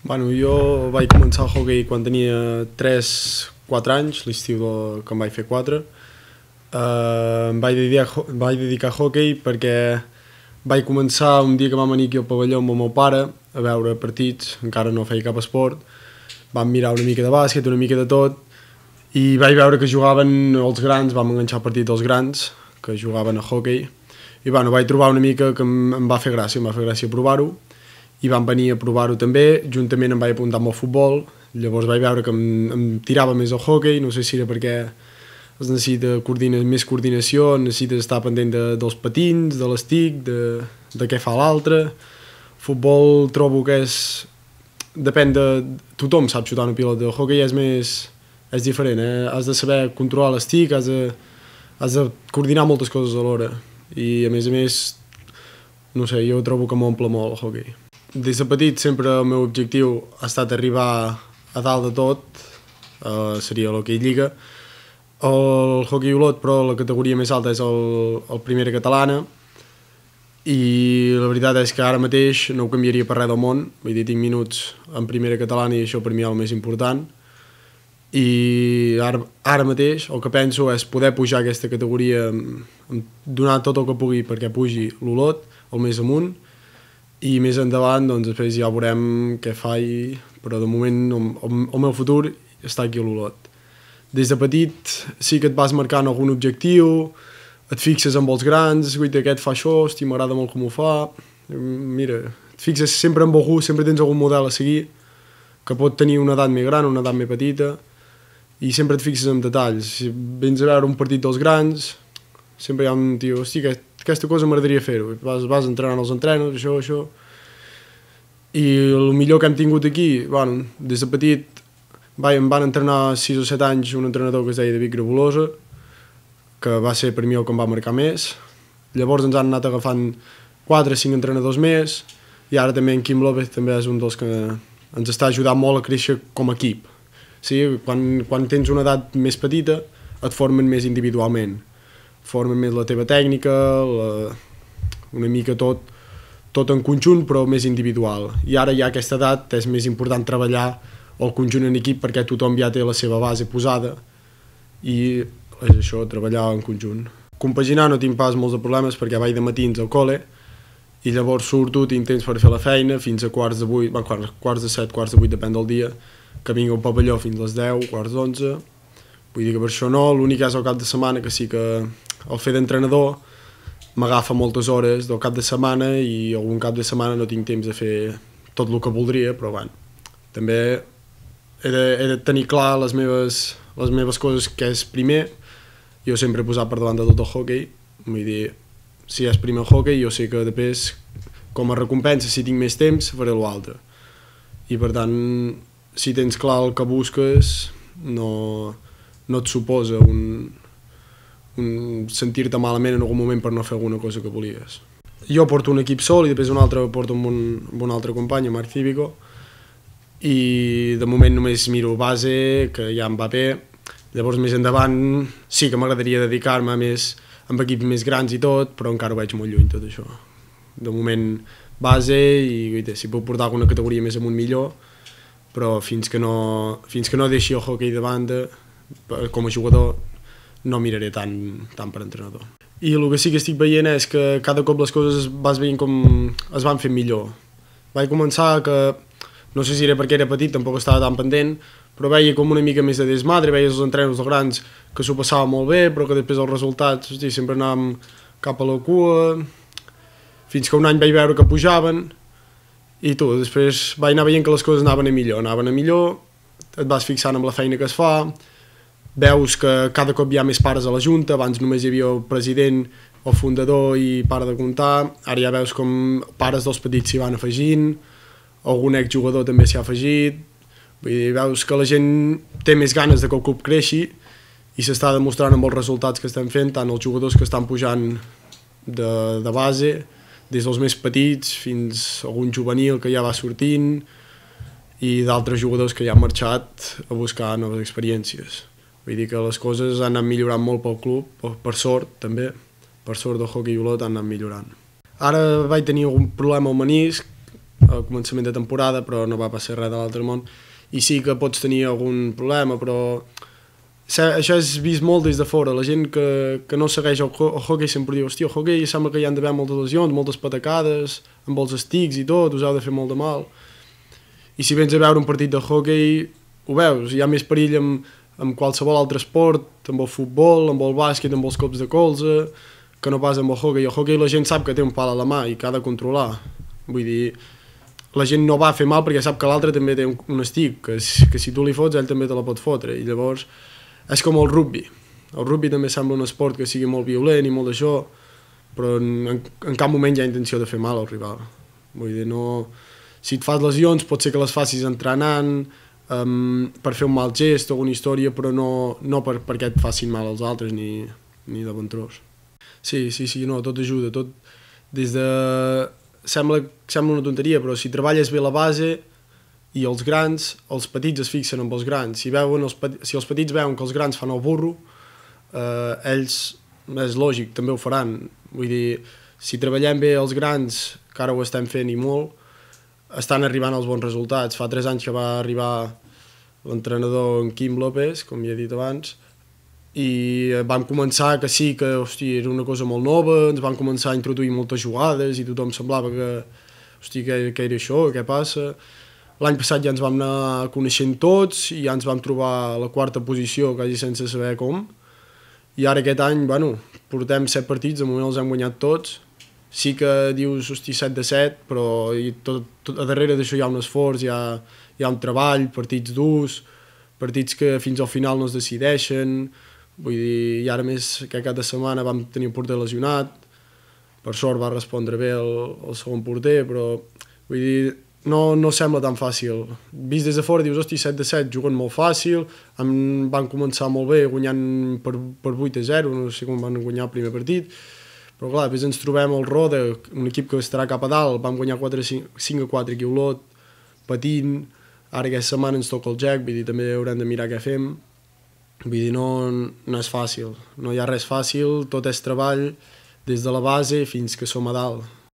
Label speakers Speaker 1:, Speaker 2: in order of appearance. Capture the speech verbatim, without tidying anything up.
Speaker 1: Bueno, jo vaig començar el hoquei quan tenia tres quatre anys, l'estiu de- que em vaig fer quatre. Uh, em vaig dedicar, em vaig dedicar a hoquei perquè vaig començar un dia que vam venir aquí al pavelló amb el meu pare a veure partits, encara no feia cap esport. Vam mirar una mica de bàsquet, una mica de tot, i vaig veure que jugaven els grans, vam enganxar el partit dels grans, que jugaven a hoquei, i bueno, vaig trobar una mica que em, em va fer gràcia, em va fer gràcia provar-ho, i vam venir a provar-ho també. Juntament em vaig apuntar amb el futbol, llavors vaig veure que em, em tirava més el hoquei, no sé si era perquè es necessita coordina, més coordinació, necessites estar pendent de, dels patins, de l'estic, de, de què fa l'altre. Futbol trobo que és... depèn de... tothom sap xutar una pilota, el hoquei és més... és diferent, eh? Has de saber controlar l'estic, has de, has de coordinar moltes coses alhora, i a més a més, no sé, jo trobo que m'omple molt el hoquei. Des de petit sempre el meu objectiu ha estat arribar a dalt de tot, uh, seria l'hoquei lliga. El hoquei olot, però la categoria més alta és el, el primera catalana, i la veritat és que ara mateix no ho canviaria per res del món. Vull dir, tinc minuts en primera catalana i això per mi és el més important, i ara, ara mateix el que penso és poder pujar aquesta categoria, donar tot el que pugui perquè pugi l'Olot, el més amunt, i més endavant doncs després ja veurem què faig, però de moment el, el meu futur està aquí a l'Olot. Des de petit sí que et vas marcant algun objectiu, et fixes amb els grans, guaita, aquest fa això, hosti, m'agrada molt com ho fa, mira, et fixes sempre amb algú, sempre tens algun model a seguir, que pot tenir una edat més gran, una edat més petita, i sempre et fixes en detalls. Si vens a veure un partit dels grans, sempre hi ha un tio, hosti, aquesta cosa m'agradaria fer-ho, vas, vas entrenant els entrenos, això, això, i el millor que hem tingut aquí, bueno, des de petit vai, em van entrenar sis o set anys un entrenador que es deia David Grabolosa, que va ser per mi el que em va marcar més. Llavors ens han anat agafant quatre o cinc entrenadors més, i ara també en Quim López també és un dels que ens està ajudant molt a créixer com a equip. Sí, quan, quan tens una edat més petita et formen més individualment, formen més la teva tècnica, la, una mica tot, tot en conjunt però més individual, i ara ja a aquesta edat és més important treballar el conjunt en equip perquè tothom ja té la seva base posada, i és això, treballar en conjunt. Compaginar no tinc pas molts de problemes perquè vaig de matins al col·le i llavors surto, tinc temps per fer la feina fins a quarts de vuit, bueno, quarts de set, quarts de vuit, depèn del dia, que vinc al pavelló fins a les deu, quarts d'onze. Vull dir que per això no, l'únic és el cap de setmana, que sí que el fer d'entrenador m'agafa moltes hores del cap de setmana i algun cap de setmana no tinc temps de fer tot el que voldria, però bueno, també he de, he de tenir clar les meves, les meves coses que és primer. Jo sempre he posat per davant de tot el hoquei, vull dir, si és primer el hoquei, jo sé que després, com a recompensa, si tinc més temps, faré l'altre. I per tant, si tens clar el que busques, no, no et suposa un, un sentir-te malament en algun moment per no fer alguna cosa que volies. Jo porto un equip sol i després un altre porto amb un, amb un altre company, Marc Cívico, i de moment només miro base, que ja em va bé. Llavors més endavant sí que m'agradaria dedicar-me més amb equips més grans i tot, però encara ho veig molt lluny tot això. De moment base i si puc portar alguna categoria més amunt millor, però fins que no, fins que no deixi el hoquei de banda, com a jugador, no miraré tant, tant per entrenador. I el que sí que estic veient és que cada cop les coses vas veient com es van fent millor. Vaig començar que, no sé si era perquè era petit, tampoc estava tan pendent, però veia com una mica més de desmadre, veies els entrenos dels grans que s'ho passava molt bé, però que després els resultats, hosti, sempre anàvem cap a la cua, fins que un any vaig veure que pujaven, i tu, després vaig anar veient que les coses anaven a millor, anaven a millor, et vas fixant amb la feina que es fa, veus que cada cop hi ha més pares a la junta, abans només hi havia el president, el fundador i pare de comptar, ara ja veus com pares dels petits s'hi van afegint, algun exjugador també s'hi ha afegit, vull dir, veus que la gent té més ganes de que el club creixi i s'està demostrant amb els resultats que estem fent, tant els jugadors que estan pujant de, de base, des dels més petits fins a algun juvenil que ja va sortint i d'altres jugadors que ja han marxat a buscar noves experiències. Vull dir que les coses han anat millorant molt pel club, per sort també, per sort del hoquei olot han anat millorant. Ara vaig tenir algun problema al menisc al començament de temporada, però no va passar res de l'altre món, i sí que pots tenir algun problema, però això és vist molt des de fora. La gent que, que no segueix el, el hockey sempre diu, hòstia, el hockey sembla que hi han d'haver moltes lesions, moltes patacades, amb els estics i tot, us heu de fer molt de mal. I si vens a veure un partit de hockey, ho veus, hi ha més perill amb, amb qualsevol altre esport, amb el futbol, amb el bàsquet, amb els cops de colze, que no pas amb el hockey. El hockey la gent sap que té un pal a la mà i que ha de controlar. Vull dir, la gent no va a fer mal perquè sap que l'altre també té un, un estic, que, que si tu li fots, ell també te la pot fotre. I llavors és com el rugby. El rugby també sembla un esport que sigui molt violent i molt d'això, però en, en cap moment hi ha intenció de fer mal al rival. Vull dir, no... Si et fas lesions, pot ser que les facis entrenant, um, per fer un mal gest o alguna història, però no, no per, perquè et facin mal als altres ni, ni de bon tros. Sí, sí, sí, no, tot ajuda, tot des de... Sembla, sembla una tonteria, però si treballes bé la base i els grans, els petits es fixen amb els grans. Si, veuen els, si els petits veuen que els grans fan el burro, eh, ells, és lògic, també ho faran. Vull dir, si treballem bé els grans, que ara ho estem fent i molt, estan arribant els bons resultats. Fa tres anys que va arribar l'entrenador en Quim López, com ja he dit abans, i vam començar que sí, que hosti, era una cosa molt nova, ens van començar a introduir moltes jugades i tothom semblava que, hosti, què, què era això, què passa? L'any passat ja ens vam anar coneixent tots i ja ens vam trobar a la quarta posició, quasi sense saber com. I ara aquest any, bueno, portem set partits, de moment els hem guanyat tots. Sí que dius, hosti, set de set, però i tot, tot, a darrere d'això hi ha un esforç, hi ha, hi ha un treball, partits durs, partits que fins al final no es decideixen. Vull dir, i ara més que cada setmana vam tenir un porter lesionat, per sort va respondre bé el, el segon porter, però vull dir, no, no sembla tan fàcil. Vist des de fora dius, hosti, set de set, juguen molt fàcil, em, van començar molt bé guanyant per, per vuit a zero, no sé com van guanyar el primer partit, però clar, després ens trobem al Roda, un equip que estarà cap a dalt, vam guanyar cinc a quatre aquí a Olot, patint, ara aquesta setmana ens toca el Jack, vull dir, també haurem de mirar què fem, vull dir, no, no és fàcil, no hi ha res fàcil, tot és treball, des de la base fins que som a dalt.